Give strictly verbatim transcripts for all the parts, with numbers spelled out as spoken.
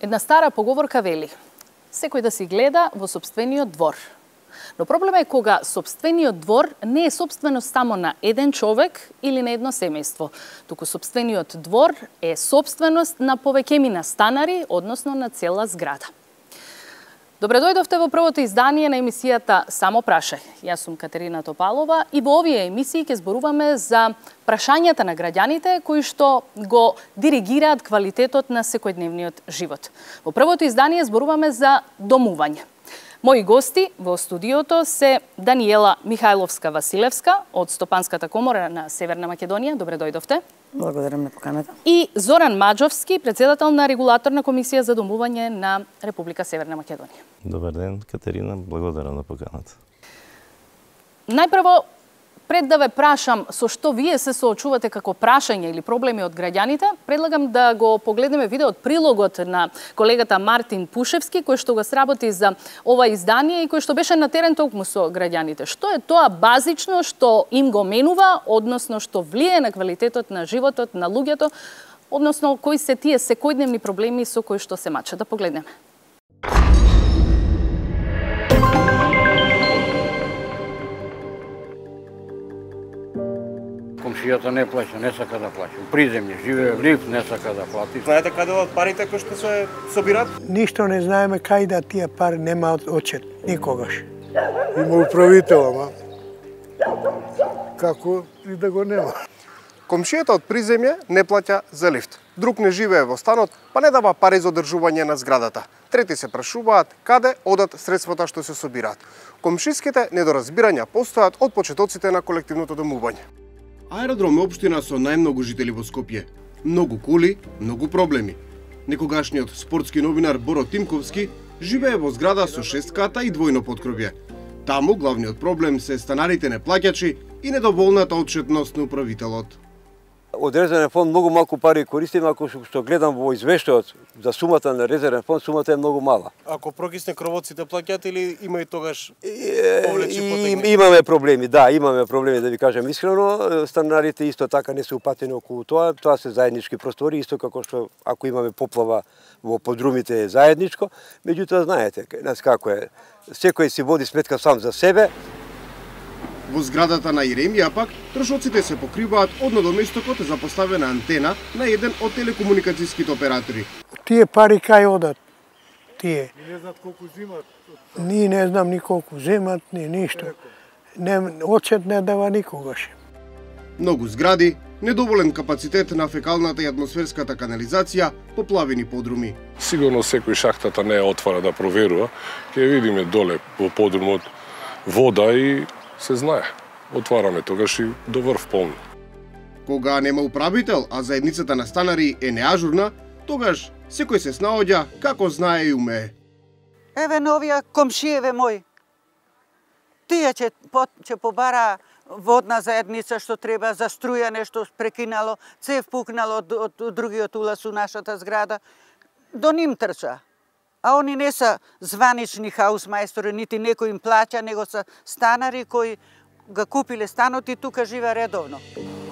Една стара поговорка вели: секој да си гледа во сопствениот двор. Но проблемот е кога сопствениот двор не е сопственост само на еден човек или на едно семејство, туку сопствениот двор е сопственост на повеќемина станари, односно на цела зграда. Добре дојдовте во првото издание на емисијата Само прашај. Јас сум Катерина Топалова и во овие емисии ќе зборуваме за прашањата на граѓаните кои што го диригираат квалитетот на секојдневниот живот. Во првото издание зборуваме за домување. Мои гости во студиото се Даниела Михајловска-Василевска од Стопанската комора на Северна Македонија. Добре дојдовте. Благодарам на поканата. И Зоран Маџовски, председател на регулаторна комисија за домување на Република Северна Македонија. Добар ден, Катерина, благодарам на поканата. Најпрво, пред да ве прашам со што вие се соочувате како прашање или проблеми од граѓаните, предлагам да го погледнеме видеот прилогот на колегата Мартин Пушевски, кој што го сработи за ова издание и кој што беше на терен токму со граѓаните. Што е тоа базично што им го менува, односно што влие на квалитетот на животот на луѓето, односно кои се тие секојдневни проблеми со кои што се мачат. Да погледнеме. Комшијата не плаќа, не сака да плаќа. У приземје живее в лифт, не сака да плати. Знаете каде од парите кои што се собират? Ништо не знаеме кај да тие пари нема очет никогаш. Има управител, ама како и да го нема. Комшијата од приземје не плаќа за лифт. Друг не живее во станот, па не дава пари за одржување на зградата. Трети се прашуваат каде одат средствата што се собираат. Комшиските недоразбирања постојат од почетоците на колективното домување. Аеродром е општина со најмногу жители во Скопје. Многу коли, многу проблеми. Некогашниот спортски новинар Боро Тимковски живее во зграда со шест ката и двојно поткробје. Таму главниот проблем се станарите неплаќачи и недоволната отчетност на управителот. Од резервен фонд многу малку пари користим, ако што гледам во извештајот за сумата на резервен фонд, сумата е многу мала. Ако прокисне кровоците плаќаат или има и тогаш повлече потегне? Имаме проблеми, да, имаме проблеми, да ви кажем искрено. Станарите исто така не се упатени околу тоа, тоа се заеднички простори, исто како што ако имаме поплава во подрумите е заедничко. Меѓутоа знаете, нас како е, секој си води сметка сам за себе. Во зградата на Иремија пак, трошоците се покриваат од надоместокот за поставена антена на еден од телекомуникацијските оператори. Тие пари кај одат? Тие. Не знаат колку земат. Ние не знам ни колку земат, ни ништо. Не, очет не дава никогаш. Многу згради, недоволен капацитет на фекалната и атмосферската канализација, поплавени подруми. Сигурно секој шахтата не ја отвара да проверува, ќе видиме доле во подрумот вода и се знае. Отвараме тогаш и до врв полно. Кога нема управител, а заедницата на станари е неажурна, тогаш секој се снаоѓа како знае и умее. Еве новија комшиеве мој. Тие ќе ќе побара водна заедница што треба за струја, нешто прекинало, цев пукнало од, од, од другиот улаз у нашата зграда. До ним трча. А они не се званични хаусмајстори, нити некој им плаќа, него се станари кои ga купиле станот и тука живе редовно.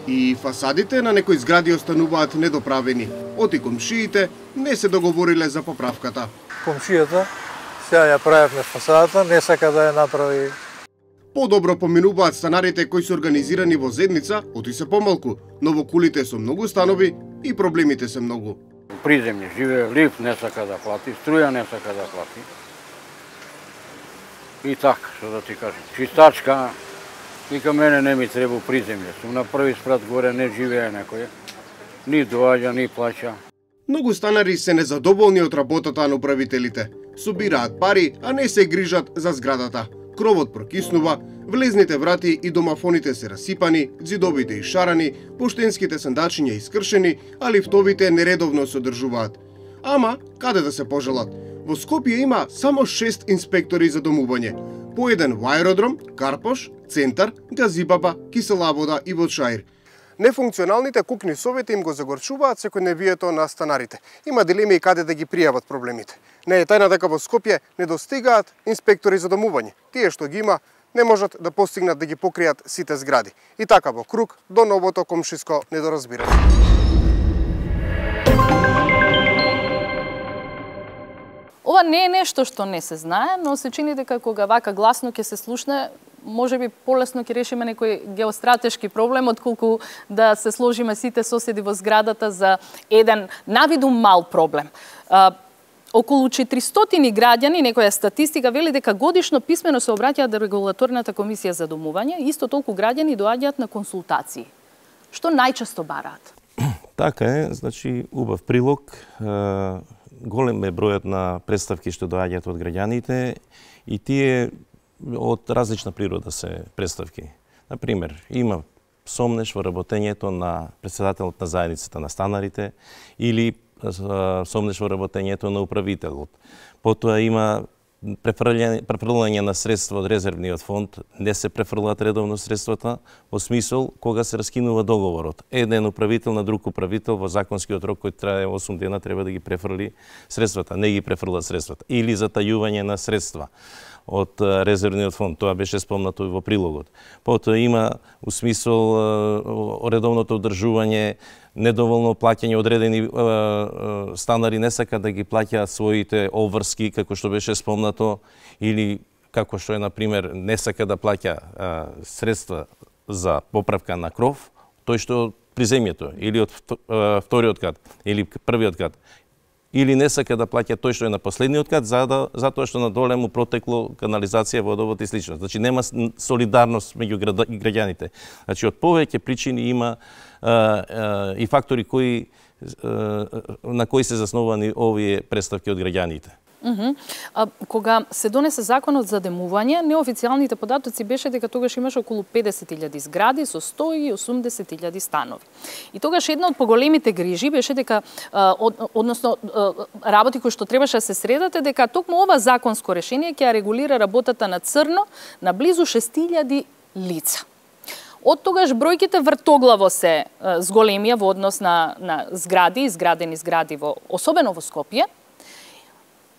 И фасадите на некои згради остануваат недоправени. Оти комшиите не се договориле за поправката. Комшијата сега ја правевме фасадата, не сака да ја направи. Подобро поминуваат станарите кои се организирани во заедница, оти се помалку, но во кулите со многу станови и проблемите се многу. Приземје живее лифт, не сака да плати, струја не сака да плати. И така, што да ти кажам. Чистачка, вика мене не ми треба приземје. Сум на први спрат горе, не живее некој. Ни доаѓа, ни плаќа. Многу станари се незадоволни од работата на управителите. Собираат пари, а не се грижат за зградата. Кровот прокиснува, влезните врати и домафоните се расипани, ѕидовите ишарани, поштенските сандачиња искршени, а лифтовите нередовно се одржуваат. Ама, каде да се пожелат? Во Скопје има само шест инспектори за домување. По еден во аеродром, Карпош, Центар, Газибаба, Кисела вода и Водшаир. Нефункционалните кукни совети им го загорчуваат секојдневието на станарите. Има дилеми и каде да ги пријават проблемите. Не е тајна дека во Скопје не достигаат инспектори за домување. Тие што ги има не можат да постигнат да ги покријат сите згради. И така во круг до новото комшиско недоразбирање. ова не е нешто што не се знае, но се чини дека кога вака гласно ќе се слушне, може би полесно ќе решиме некој геостратешки проблем, отколку да се сложиме сите соседи во зградата за еден навиду мал проблем. А, околу четиристотини граѓани, некоја статистика вели дека годишно писмено се обраќаат до регулаторната комисија за домување, исто толку граѓани доаѓаат на консултации. Што најчесто бараат? Така е, значи убав прилог. Голем е бројот на представки што доаѓаат од граѓаните и тие од различна природа се представки. Например, има сомнеш во работењето на председателот на заедницата на станарите или сомнеш во работењето на управителот. Потоа има префрлање на средства од резервниот фонд, не се префрлаат редовно средствата, во смисол кога се раскинува договорот. Еден управител на друг управител во законскиот рок кој трае осум дена треба да ги префрли средствата, не ги префрлат средствата. Или затајување на средства од резервниот фонд, тоа беше спомнато во прилогот. Потоа има у смисол редовното одржување, недоволно плаќање, одредени е, е, станари не сака да ги плаќаат своите обврски, како што беше спомнато, или како што е, например, не сака да плаќа е, средства за поправка на кров, тој што од приземјето, или од е, вториот кат, или првиот кат, или не сака да плаќа тој што е на последниот кат, за да, затоа што надоле му протекло канализација, водовод и слично. Значи нема солидарност меѓу граѓаните. Значи од повеќе причини има а, а, и фактори кои а, на кои се заснувани овие представки од граѓаните. Uh -huh. а, кога се донесе законот за демување, неофицијалните податоци беше дека тогаш имаше околу педесет илјади згради со сто и осумдесет илјади станови. И тогаш една од поголемите грижи беше дека, а, од, односно а, работи кои што требаше да се средат е дека токму ова законско решение ќе регулира работата на црно на близу шест илјади лица. Од тогаш бројките вртоглаво се а, зголемија во однос на, на згради, изградени згради, во, особено во Скопје.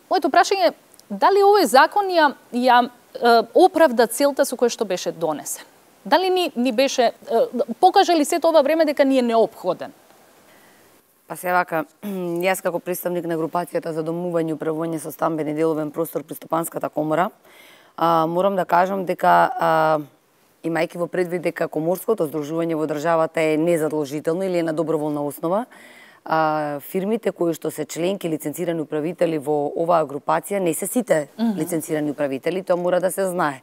Моето прашање е дали овој закон ја, ја е, оправда целта со која што беше донесен? Дали ни, ни беше, е, покажа ли сето ова време дека ни е неопходен? Па се вака, јас како представник на групацијата за домување и управување со стамбен и деловен простор при Стопанската комора, а, морам да кажам дека а, имајќи во предвид дека коморското здружување во државата е незадолжително или е на доброволна основа, а, фирмите кои што се членки лиценцирани управители во оваа групација не се сите mm -hmm. лиценцирани управители, тоа мора да се знае.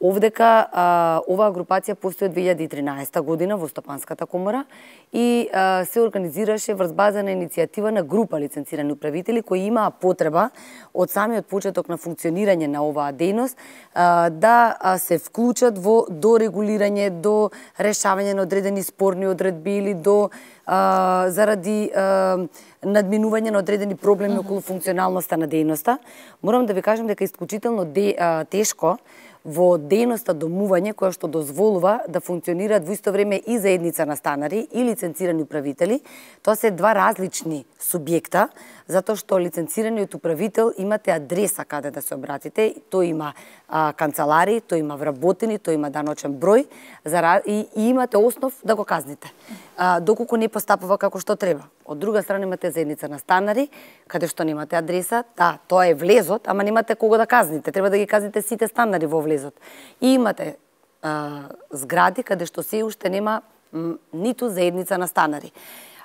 Овдека а, оваа групација постои од две илјади и тринаесета година во Стопанската комора и а, се организираше врз база на иницијатива на група лиценцирани управители кои имаа потреба од самиот почеток на функционирање на оваа дејност а, да а, се вклучат во до регулирање, до решавање на одредени спорни одредби или до а, заради а, надминување на одредени проблеми mm -hmm. околу функционалноста на дејноста. Морам да ви кажам дека е исклучително де, а, тешко во дејноста домување која што дозволува да функционираат во исто време и заедница на станари и лиценцирани управители. Тоа се два различни субјекта, затоа што лиценцираниот управител имате адреса каде да се обратите, тој има а, канцелари, тој има вработени, тој има даночен број за, и, и имате основ да го казните, а, доколку не постапува како што треба. Од друга страна имате заедница на станари, каде што немате адреса, да, тоа е влезот, ама немате кого да казните, треба да ги казните сите станари во влезот. И имате а, згради каде што се уште нема м, ниту заедница на станари.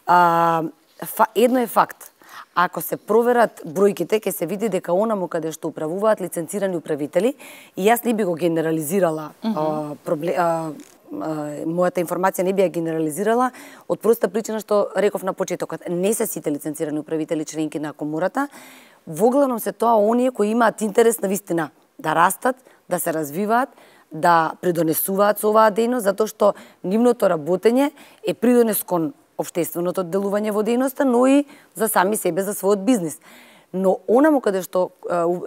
А, фа, едно е факт. Ако се проверат бројките, ќе се види дека онаму каде што управуваат лиценцирани управители, и јас не би го генерализирала mm -hmm. а, проблем, а, мојата информација не би ја генерализирала од проста причина што реков на почетокот. Не се сите лиценцирани управители членки на комората, воглавном се тоа оние кои имаат интерес на вистина да растат, да се развиваат, да придонесуваат со оваа дејност, затоа што нивното работење е придонес кон општественото делување во дејноста, но и за сами себе, за својот бизнис. Но онаму каде што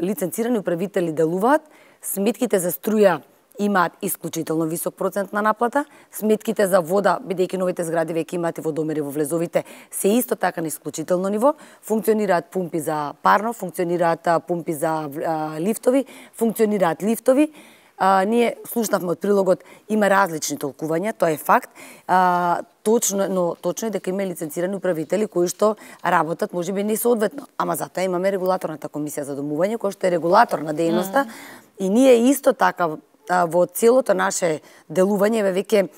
лиценцирани управители делуваат, сметките за струја имаат исклучително висок процент на наплата, сметките за вода, бидејќи новите згради веќе имаат и водомери во влезовите, се исто така на исклучително ниво, функционираат пумпи за парно, функционираат пумпи за а, лифтови, функционираат лифтови, а, ние слушнавме од прилогот, има различни толкувања, тоа е факт. А, точно, но точно е дека има лиценцирани управители кои што работат можеби несоодветно, ама затоа имаме регулаторната комисија за домување која што е регулатор на дејноста mm. и ние исто така во целото наше делување веќе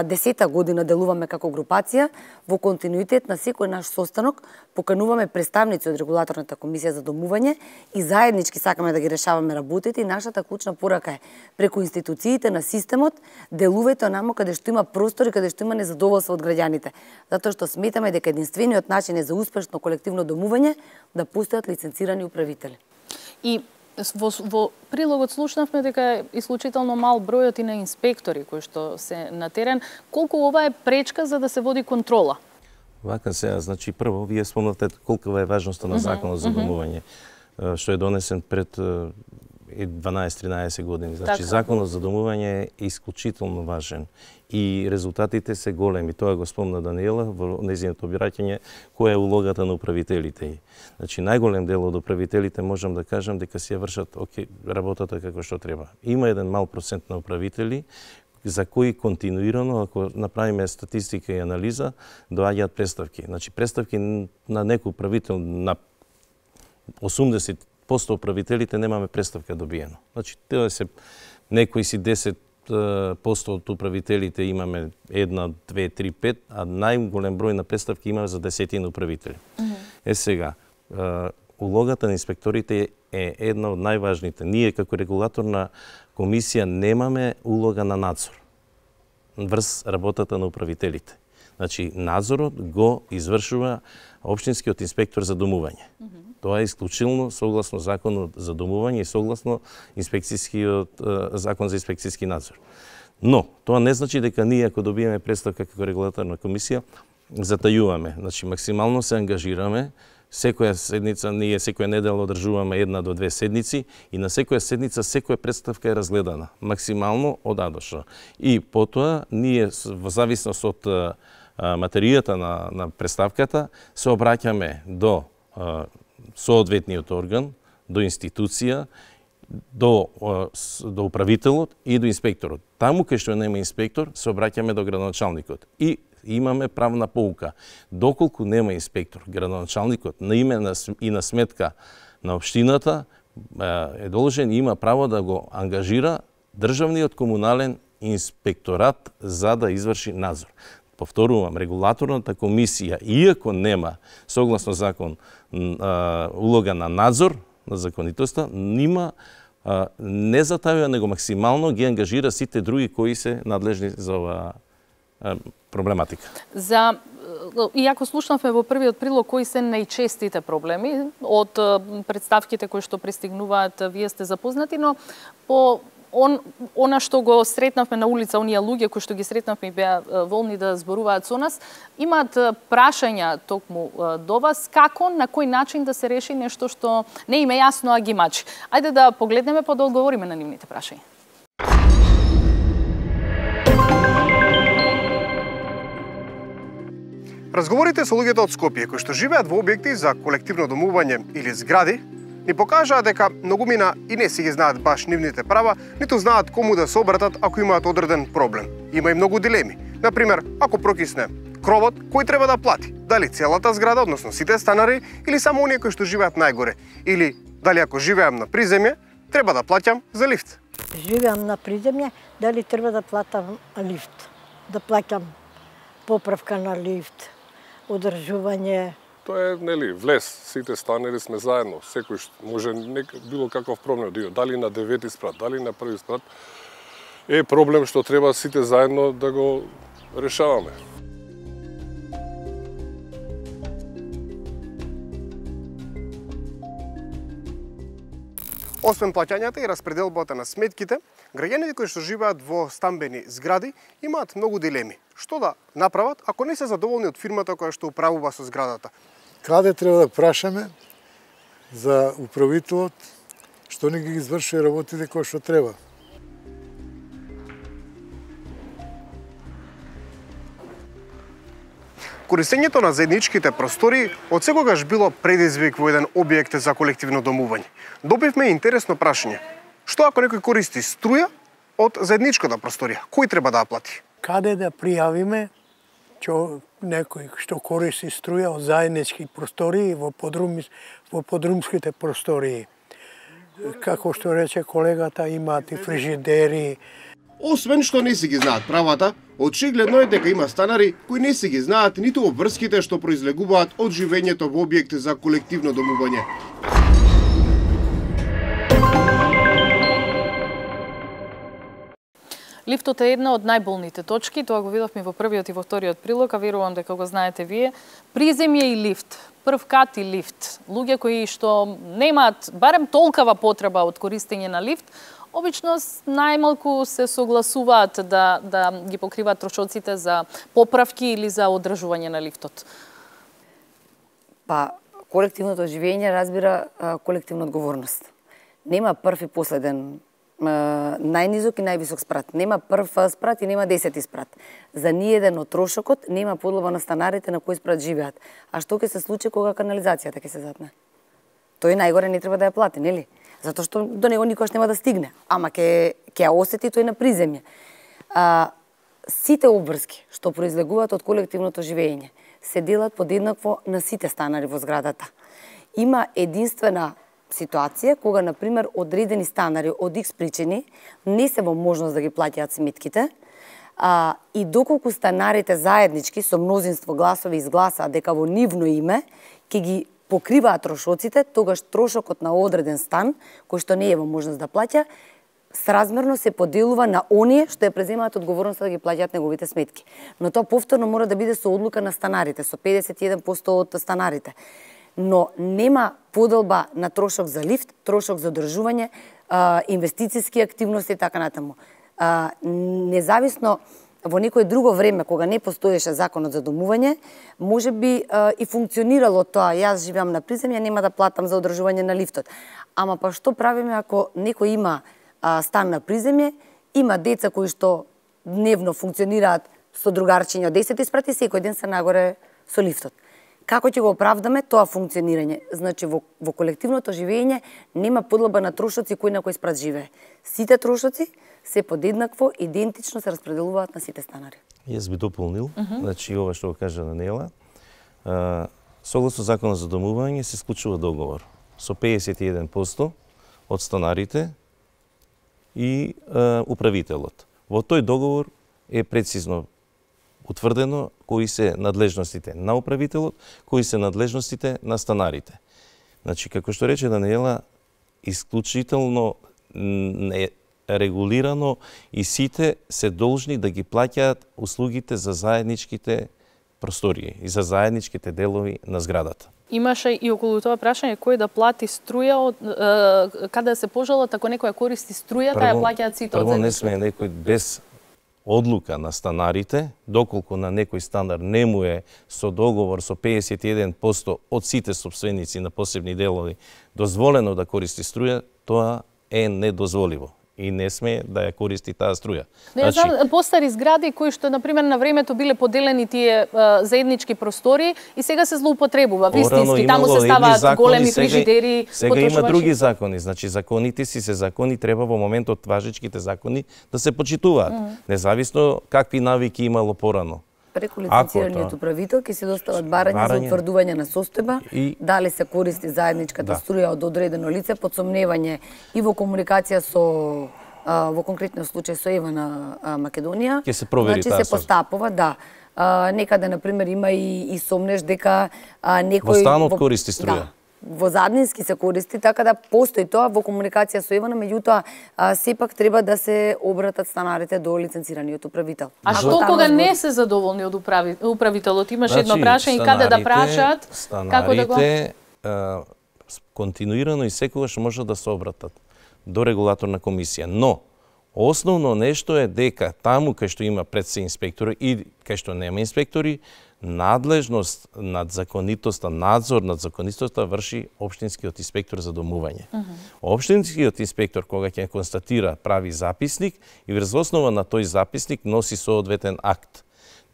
десета година делуваме како групација, во континуитет на секој наш состанок покануваме представници од регулаторната комисија за домување и заеднички сакаме да ги решаваме работите и нашата клучна порака е преку институциите на системот делувајте онамо каде што има простор и каде што има незадоволство од граѓаните, затоа што сметаме дека единствениот начин е за успешно колективно домување да постојат лиценцирани управители. И Во, во прилогот слушнавме дека е исклучително мал бројот и на инспектори кои што се на терен. Колку ова е пречка за да се води контрола? Вака сега, значи прво, вие спомнате колкава е важноста на законот за домување, што е донесен пред дванаесет-тринаесет години. Значи, така. Законот за домување е исклучително важен и резултатите се големи. Тоа го спомна Даниела во нејзиното обраќање, која е улогата на управителите. Значи, најголем дел од управителите можам да кажам дека си ја вршат оке, работата како што треба. Има еден мал процент на управители за кои континуирано, ако направиме статистика и анализа, доаѓаат представки. Значи, представки на некој управител на осумдесет проценти управителите немаме представка добиено. Значи, тоа се некои си десет проценти од управителите имаме една, две, три, пет, а најголем број на представки имаме за десетина управители. Mm -hmm. Е сега, улогата на инспекторите е една од најважните. Ние како регулаторна комисија немаме улога на надзор врз работата на управителите. Значи, надзорот го извршува општинскиот инспектор за домување. Mm -hmm. Тоа е исклучително согласно законот за домување и согласно инспекцијскиот закон за инспекцијски надзор. Но тоа не значи дека ние ако добиеме представка како регулаторна комисија затајуваме. Значи максимално се ангажираме. Секоја седница, ние секоја недела одржуваме една до две седници и на секоја седница секоја представка е разгледана максимално од А до Ш. И потоа ние во зависност од материјата на, на представката се обраќаме до соодветниот орган, до институција, до, до управителот и до инспекторот. Таму кај што нема инспектор, се обраќаме до градоначалникот. И имаме правна поука. Доколку нема инспектор, градоначалникот на име и на сметка на општината е должен и има право да го ангажира државниот комунален инспекторат за да изврши надзор. Повторувам, регулаторната комисија, иако нема согласно закон улога на надзор на законитоста, нима не затавува, него максимално ги ангажира сите други кои се надлежни за оваа проблематика. За иако слушнавме во првиот прилог кои се најчестите проблеми од представките кои што пристигнуваат, вие сте запознати, но по Он, она што го сретнавме на улица, оние луѓе кои што ги сретнавме и беа волни да зборуваат со нас, имаат прашања токму до вас, како, на кој начин да се реши нешто што не им е јасно, а ги мачи. Ајде да погледнеме па да одговориме на нивните прашања. Разговорите со луѓето од Скопје кои што живеат во објекти за колективно домување или згради ни покажаа дека многумина и не си ги знаат баш нивните права, ниту знаат кому да се обратат ако имаат одреден проблем. Има и многу дилеми. Например, ако прокисне кровот, кој треба да плати? Дали целата зграда, односно сите станари, или само оние кои што живеат најгоре? Или дали ако живеам на приземје, треба да плаќам за лифт? Живеам на приземје, дали треба да платам лифт? Да плаќам поправка на лифт, одржување. Тоа е, нели, влез, сите станери сме заедно, секој може нек, било каков проблем да има, дали на девети спрат, дали на први спрат, е проблем што треба сите заедно да го решаваме. Освен плаќањата и распределбата на сметките, граѓаните кои што живеат во стамбени згради имаат многу дилеми. Што да направат ако не се задоволни од фирмата која што управува со зградата? Каде треба да прашаме за управителот што не ги извршува работите кои што треба? Користењето на заедничките простори од секогаш било предизвик во еден објект за колективно домување. Добивме интересно прашање. Што ако некој користи струја од заедничката просторија? Кој треба да ја плати? Каде да пријавиме што некој што користи струја од заеднички простории во подрум во подрумските простории? Како што рече колегата, имаат и фрижидери. Освен што не си ги знаат правата, очигледно е дека има станари кои не си ги знаат ниту обврските што произлегуваат од живењето во објект за колективно домување. Лифтот е една од најболните точки, тоа го видовме во првиот и во вториот прилог, а верувам дека го знаете вие. Приземје и лифт, прв кат и лифт. Луѓе кои што немаат барем толкава потреба од користење на лифт, обично најмалку се согласуваат да, да ги покриваат трошоците за поправки или за одржување на лифтот. Па, колективното живење разбира колективна одговорност. Нема прв и последен најнизок и највисок спрат. Нема прв спрат и нема десети спрат. За ниеден од трошокот нема подлога на станарите на кој спрат живеат. А што ќе се случи кога канализацијата ќе се затне? Тој најгоре не треба да ја плати, нели? Затоа што до него никош нема да стигне. Ама ќе ќе ја осети тој на приземје. А, сите обврски што произлегуваат од колективното живење се делат подеднакво на сите станари во зградата. Има единствена ситуација кога, например, одредени станари од икс причини не се во можност да ги плаќаат сметките, а, и доколку станарите заеднички со мнозинство гласови изгласаат дека во нивно име ќе ги покриваат трошоците, тогаш трошокот на одреден стан, кој што не е во можност да плаќа, сразмерно се поделува на оние што ја преземаат одговорноста да ги плаќаат неговите сметки. Но тоа повторно мора да биде со одлука на станарите, со педесет и еден проценти од станарите. Но нема поделба на трошок за лифт, трошок за одржување, инвестициски активности и така натаму. А, независно во некое друго време, кога не постоеше законот за домување, може би а, и функционирало тоа. Јас живеам на приземје, нема да платам за одржување на лифтот. Ама па што правиме ако некој има а, стан на приземје, има деца кои што дневно функционираат со другарчиња од десет спрати, секој ден се нагоре со лифтот. Како ќе го оправдаме тоа функционирање? Значи, во, во колективното живење нема подлоба на трошоци кој на кој спрат живее. Сите трошоци се подеднакво, идентично се распределуваат на сите станари. Јас би дополнил, uh -huh. значи ова што го кажа Даниела, согласно законот за домување се склучува договор со педесет и еден проценти од станарите и а, управителот. Во тој договор е прецизно утврдено кои се надлежностите на управителот, кои се надлежностите на станарите. Значи, како што рече Даниела, исклучително не регулирано и сите се должни да ги плаќаат услугите за заедничките простории и за заедничките делови на зградата. Имаше и околу тоа прашање кој да плати струја, од, е, каде се пожелат ако некој користи струјата, ја плаќаат сите од заедничките. Прво не сме некој без одлука на станарите, доколку на некој станар не му е со договор со педесет и еден проценти од сите собственици на посебни делови дозволено да користи струја, тоа е недозволиво и не сме да ја користи таа струја. Не значи, знам, постари згради кои што например на времето биле поделени тие а, заеднички простори и сега се злоупотребува вистински, таму се ставаат закони, големи фрижидери. Сега, сега има други закони, значи законите си се закони, треба во моментот важечките закони да се почитуваат, mm. независно какви навики имало порано. Преку лиценцираниот управител ќе се достават барања, барања за утврдување на состојба, и дали се користи заедничката да. струја од одредено лице, под сомневање и во комуникација со а, во конкретниот случај со Ева на а, Македонија. Ќе се провери значи, таа се постапува, да. А, некаде например има и, и сомнеш дека а, некој во станот користи струја. Да. Во заднински се користи, така да постои тоа во комуникација со Евана, меѓутоа сепак треба да се обратат станарите до лиценцираниот управител. А што кога не се задоволни од управи, управителот? Имаш значи, едно прашање каде да прашаат, како да го... Станарите континуирано и секогаш може да се обратат до регулаторна комисија, но основно нешто е дека таму кај што има пред се инспектори и кај што нема инспектори, надлежност над законитоста, надзор над законитоста врши општинскиот инспектор за домување. Uh -huh. Општинскиот инспектор кога ќе констатира прави записник и врз основа на тој записник носи соодветен акт.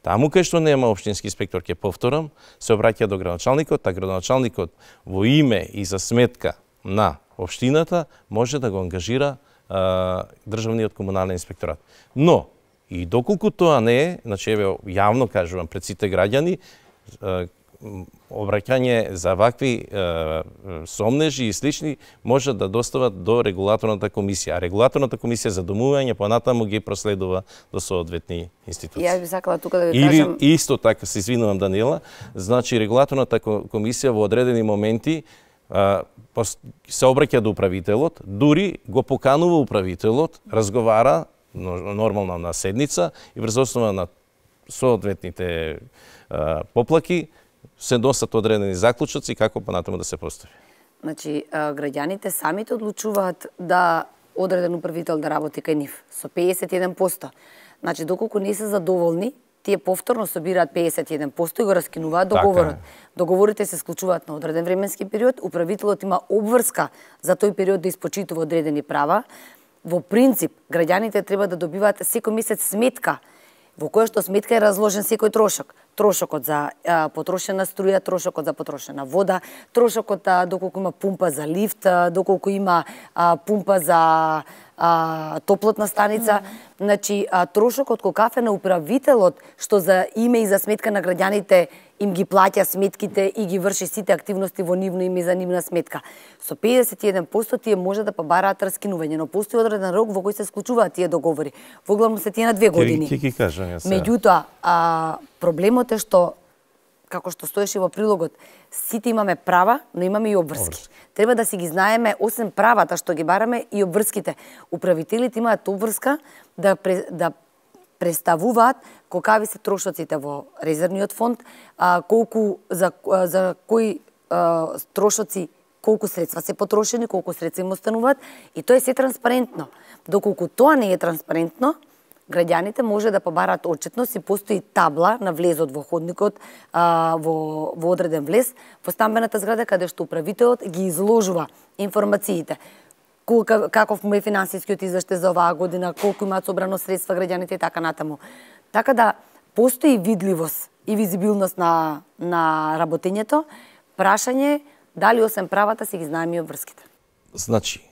Таму кај што нема општински инспектор, ќе повторам, се обраќа до градоначалникот, а градоначалникот во име и за сметка на општината може да го ангажира државниот комунален инспекторат. Но и доколку тоа не е, значи еве јавно кажувам пред сите граѓани, обраќање за вакви е, сомнежи и слични може да достават до регулаторната комисија. А регулаторната комисија за домување понатаму ги проследува до соодветни институции. Јас би сакала тука да ви Или кажам... исто така, се извинувам Даниела, значи регулаторната комисија во одредени моменти а, се обраќа до управителот, дури го поканува управителот, разговара нормално на седница и врз основа на соодветните а, поплаки се носат одредени заклучоци како понатаму да се постави. Значи, граѓаните самите одлучуваат да одреден управител да работи кај нив со педесет и еден проценти. Значи, доколку не се задоволни, тие повторно собираат педесет и еден проценти и го раскинуваат договорот. Така Договорите се склучуваат на одреден временски период, управителот има обврска за тој период да испочитува одредени права. Во принцип, граѓаните треба да добиваат секој месец сметка, во која што сметка е разложен секој трошок. Трошокот за а, потрошена струја, трошокот за потрошена вода, трошокот а, доколку има пумпа за лифт, а, доколку има а, пумпа за а, топлотна станица. Mm -hmm. Значи, а, трошокот кој кафе на управителот, што за име и за сметка на граѓаните им ги плаќа сметките и ги врши сите активности во нивно име за нивна сметка. Со педесет и еден проценти тие може да побараат раскинување, но постои одреден рок во кој се склучуваат тие договори. Во главно се тие на две години. Ќе ги кажам јас. Меѓутоа, а, проблемот е што, како што стоеше во прилогот, сите имаме права, но имаме и обврски. Обврски. Треба да си ги знаеме, освен правата што ги бараме, и обврските. Управителите имаат обврска да, да представуваат колкави се трошоците во резервниот фонд, а, колку за, а, за кои а, трошоци, колку средства се потрошени, колку средства им остануваат, и тоа е се транспарентно. Доколку тоа не е транспарентно, граѓаните може да побараат отчетност и постои табла на влезот во ходникот, а, во, во одреден влез, во стамбената зграда, каде што управителот ги изложува информациите. Каков му е финансискиот извештај за оваа година, колку имаат собрано средства граѓаните и така натаму. Така да постои видливост и визибилност на, на работењето. Прашање дали освен правата си ги знаеме и обврските. Значи,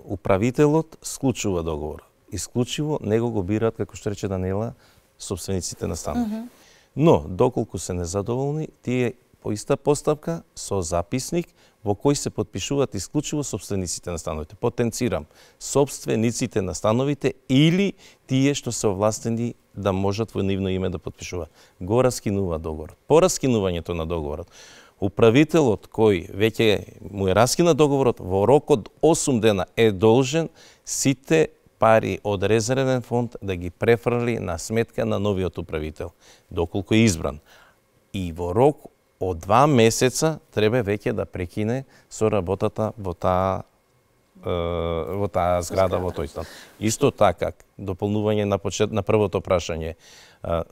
управителот склучува договор. Исклучиво него го бираат, како што рече Даниела, собствениците на станови. Mm -hmm. Но, доколку се незадоволни, тие по иста постапка со записник во кој се потпишуваат исклучиво собствениците на становите. Потенцирам, собствениците на становите или тие што се овластени да можат во нивно име да потпишуваат. Го раскинува договорот. По раскинувањето на договорот, управителот кој веќе му е раскина договорот во рок од осум дена е должен сите пари од резервен фонд да ги префрли на сметка на новиот управител, доколку е избран. И во рок од два месеца треба веќе да прекине со работата во таа во таа зграда, во тој стан. Исто така, дополнување на почет на првото прашање,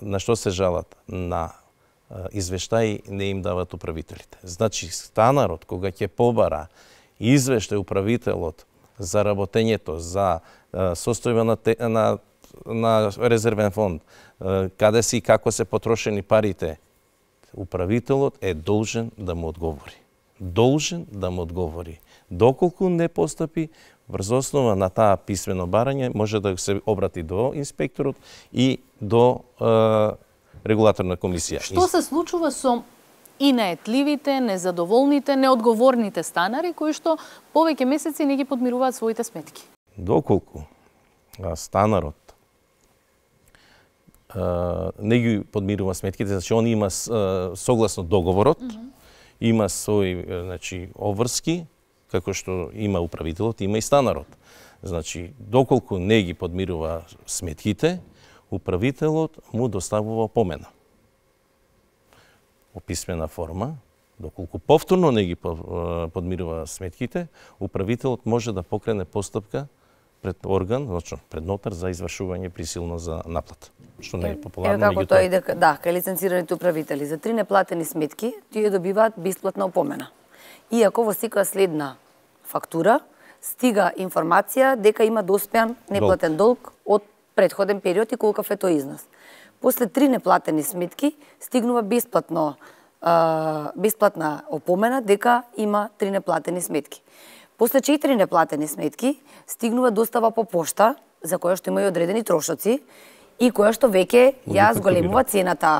на што се жалат? На извештаи не им дават управителите. Значи, станарот кога ќе побара извештај управителот за работењето, за состојба на, те, на, на резервен фонд, каде си и како се потрошени парите, управителот е должен да му одговори. Должен да му одговори. Доколку не постапи, врз основа на таа писмено барање, може да се обрати до инспекторот и до е, регулаторна комисија. Што се случува со и наетливите, незадоволните, неодговорните станари кои што повеќе месеци не ги подмируваат своите сметки? Доколку станарот не ги подмирува сметките, значи он има согласно договорот, mm -hmm. има свој значи обврски, како што има управителот, има и станарот. Значи, доколку не ги подмирува сметките, управителот му доставува помена. Во писмена форма, доколку повторно не ги подмирува сметките, управителот може да покрене постапка пред орган, значи пред нотар за извршување присилно за наплата, што не е популарно. Ево како тоа иде, да, кај лиценцираните управители. За три неплатени сметки, тие добиваат бесплатна опомена. Иако во секоја следна фактура стига информација дека има доспеан неплатен долг од претходен период и колкав е тој износ. После три неплатени сметки стигнува бесплатно, бесплатна опомена дека има три неплатени сметки. После четири неплатени сметки, стигнува достава по пошта, за која што има и одредени трошоци, и која што веќе ја зголемува цената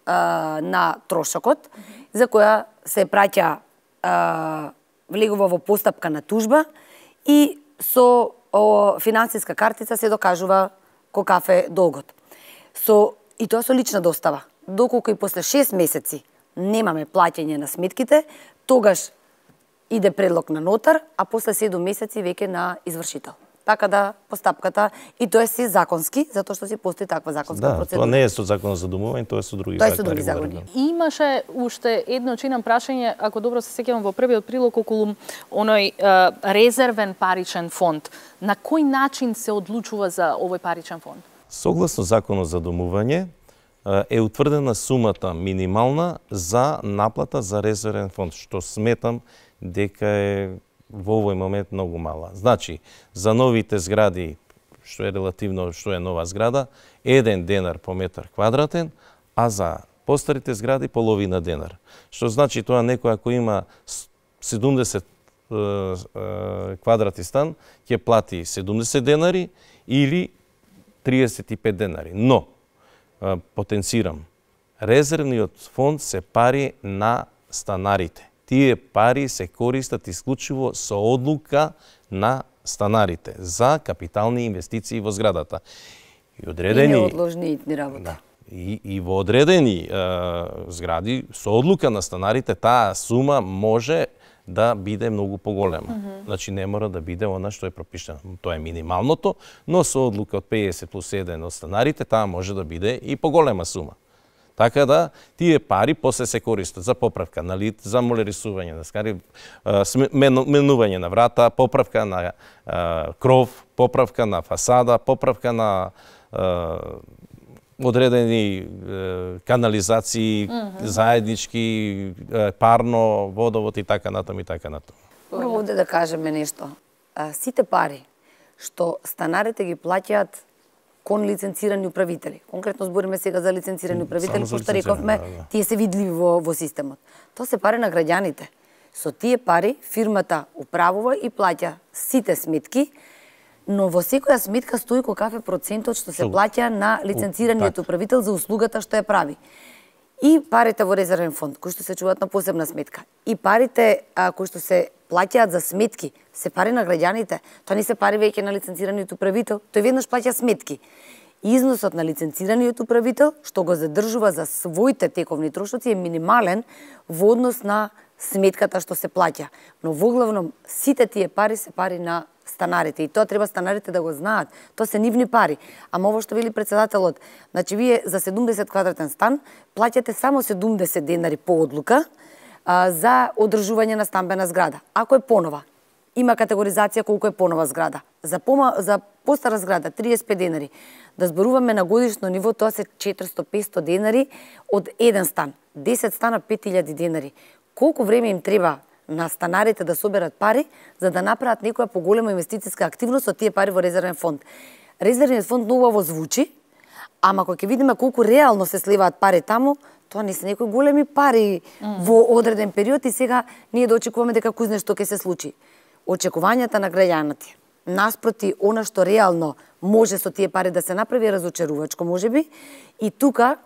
а, на трошокот, за која се праќа а, влегува во постапка на тужба и со о, финансиска картица се докажува колкав е долгот. Со, и тоа со лична достава. Доколку и после шест месеци немаме плаќање на сметките, тогаш иде предлог на нотар, а после седум месеци веќе на извршител. Така да постапката, и тоа е се законски, затоа што си постои таква законска да, процедура. Да, тоа не е со законот за домување, тоа е со други тоа закони. Тоа е со други закони. Имаше уште едно чинам прашање, ако добро се сеќавам во првиот прилог околу оној е, резервен паричен фонд. На кој начин се одлучува за овој паричен фонд? Согласно законот за домување е утврдена сумата минимална за наплата за резервен фонд, што сметам дека е во овој момент многу мала. Значи, за новите згради, што е релативно, што е нова зграда, еден денар по метар квадратен, а за постарите згради половина денар. Што значи тоа некој ако има седумдесет квадрати стан, ќе плати седумдесет денари или триесет и пет денари. Но, потенцирам, резервниот фонд се пари на станарите. Тие пари се користат исклучиво со одлука на станарите за капитални инвестиции во зградата. И одредени и неодложни итни работи. Да, и, и во одредени е, згради со одлука на станарите таа сума може да биде многу поголема. Mm -hmm. Значи не мора да биде она што е пропишано. Тоа е минималното, но со одлука од педесет плюс еден од станарите таа може да биде и поголема сума. Така да, тие пари после се користат за поправка на лид, за молерисување на скари, менување на врата, поправка на а, кров, поправка на фасада, поправка на а, одредени а, канализации, mm -hmm. заеднички, а, парно, водовод и така натаму и така натаму. Прво овде да кажеме нешто. А, сите пари што станарите ги плаќаат кон лиценцирани управители. Конкретно збориме сега за лиценцирани управители, пошто рековме, да, да. Тие се видливи во, во системот. Тоа се пари на граѓаните. Со тие пари фирмата управува и плаќа сите сметки, но во секоја сметка стои колкав е процентот што се плаќа на лиценцираниот управител за услугата што ја прави. И парите во резервен фонд, кои што се чуваат на посебна сметка, и парите а, кои што се плаќаат за сметки, се пари на граѓаните. Тоа не се пари веќе на лиценцираниот управител, тој веднаш плаќа сметки. Износот на лиценцираниот управител, што го задржува за своите тековни трошоци, е минимален во однос на сметката што се плаќа. Но воглавном сите тие пари се пари на станарите и тоа треба станарите да го знаат. Тоа се нивни пари. Ама ово што вели председателот, значи вие за седумдесет квадратен стан плаќате само седумдесет денари по одлука а, за одржување на стамбена зграда. Ако е понова, има категоризација колку е понова зграда. За, пома, за постара зграда триесет и пет денари. Да зборуваме на годишно ниво, тоа се четиристо до петстотини денари од еден стан. десет стана пет илјади денари. Колку време им треба на станарите да соберат пари за да направат некоја поголема инвестициска активност од тие пари во резервен фонд? Резервниот фонд многу убаво звучи, ама кога ќе видиме колку реално се сливаат пари таму, тоа не се некои големи пари mm. во одреден период и сега ние да очекуваме дека кузне што ќе се случи. Очекувањата на граѓаните наспроти она што реално може со тие пари да се направи разочарувачко можеби и тука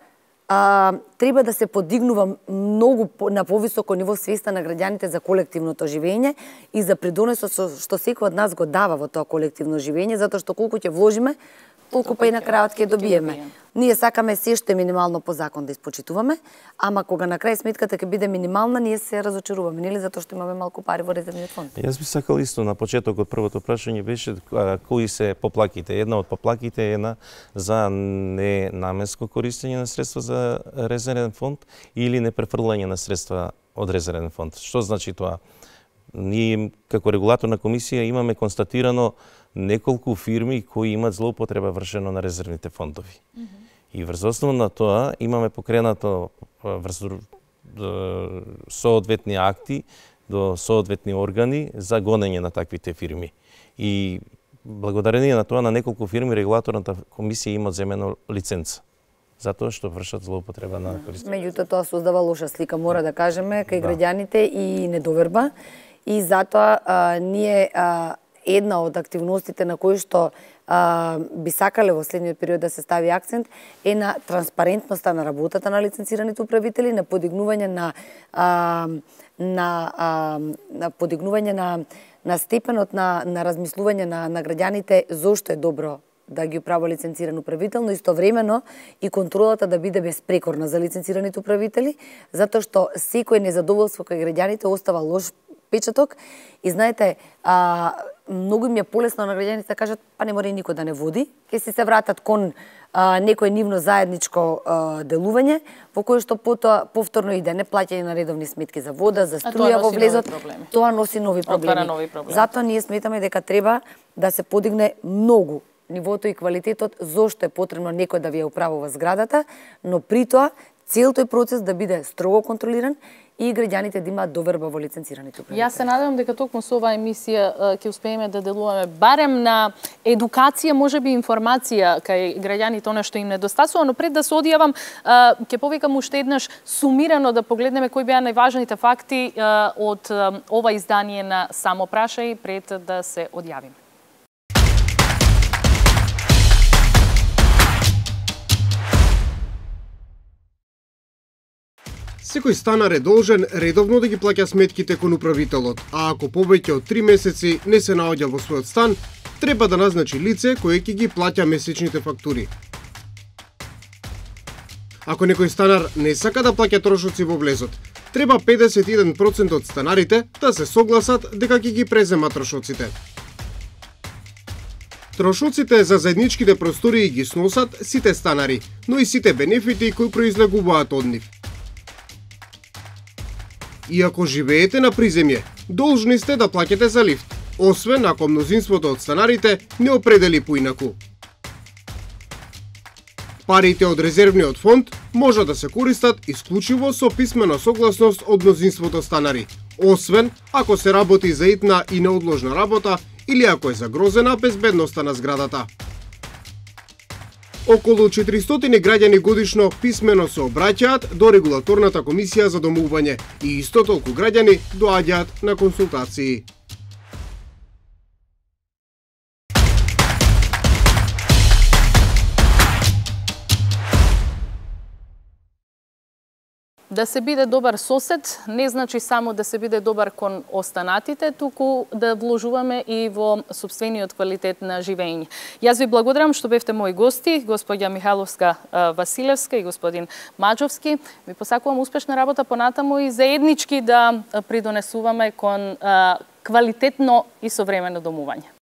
а, треба да се подигнува многу на повисоко ниво свеста на граѓаните за колективното живење и за придонесот што секој од нас го дава во тоа колективно живење, затоа што колку ќе вложиме, толку па и на крајот ќе добиеме. Ние сакаме се што е минимално по закон да испочитуваме, ама кога на крај сметката ќе биде минимална, ние се разочаруваме, нели, затоа што имаме малку пари во резервниот фонд. Јас би сакал исто на почетокот првото прашање беше а, кои се поплаките. Една од поплаките е една за ненаменско користење на средства за резервен фонд или непрефрлање на средства од резервен фонд. Што значи тоа? Ние како регулаторна комисија имаме констатирано неколку фирми кои имаат злоупотреба вршено на резервните фондови. Mm -hmm. И врз основа на тоа имаме покренато врз соодветни акти до соодветни органи за гонење на таквите фирми. И благодарение на тоа на неколку фирми регулаторната комисија има земено лиценца затоа што вршат злоупотреба на користење. Меѓутоа тоа создава лоша слика, мора да кажеме, кај да. граѓаните и недоверба. и затоа а, ние а, една од активностите на кои што а, би сакале во следниот период да се стави акцент е на транспарентноста на работата на лиценцираните управители, на подигнување на а, на, а, на подигнување на на степенот на на размислување на на граѓаните зошто е добро да ги управува лиценциран управител, но истовремено и контролата да биде безпрекорна за лиценцираните управители, затоа што секој незадоволство кај граѓаните остава лош печаток и знаете, а, многу им е полесно на граѓаните да кажат па не мора и никој да не води, ќе си се вратат кон а, некој нивно заедничко а, делување, во кое што потоа повторно иде не плаќање на редовни сметки за вода, за струја во влезот, тоа носи нови проблеми. нови проблеми. Затоа ние сметаме дека треба да се подигне многу нивото и квалитетот, зошто е потребно некој да ви ја управува зградата, но при тоа цел тој процес да биде строго контролиран и граѓаните да имаат доверба во лиценцираните управители. Јас се надевам дека токму со оваа емисија ќе успееме да делуваме барем на едукација, можеби информација кај граѓаните она што им недостасува, но пред да се одјавам ќе повикам уште еднаш сумирано да погледнеме кои беа најважните факти од ова издание на Само прашај пред да се одјавиме. Секој станар е должен редовно да ги плаќа сметките кон управителот, а ако повеќе од три месеци не се наоѓа во својот стан, треба да назначи лице кое ќе ги плаќа месечните фактури. Ако некој станар не сака да плаќа трошоци во влезот, треба педесет и еден проценти од станарите да се согласат дека ќе ги презема трошоците. Трошоците за заедничките простории ги сносат сите станари, но и сите бенефити кои произлегуваат од нив. И ако живеете на приземје, должни сте да плаќате за лифт, освен ако мнозинството од станарите не определи поинаку. Парите од резервниот фонд може да се користат исклучиво со писмена согласност од мнозинството станари, освен ако се работи за итна и неодложна работа или ако е загрозена безбедноста на зградата. Околу четиристотини граѓани годишно писмено се обраќаат до регулаторната комисија за домување и исто толку граѓани доаѓаат на консултации. Да се биде добар сосед не значи само да се биде добар кон останатите, туку да вложуваме и во сопствениот квалитет на живење. Јас ви благодарам што бевте мои гости, господја Михайловска Василевска и господин Маџовски. Ви посакувам успешна работа понатаму и заеднички да придонесуваме кон квалитетно и современо домување.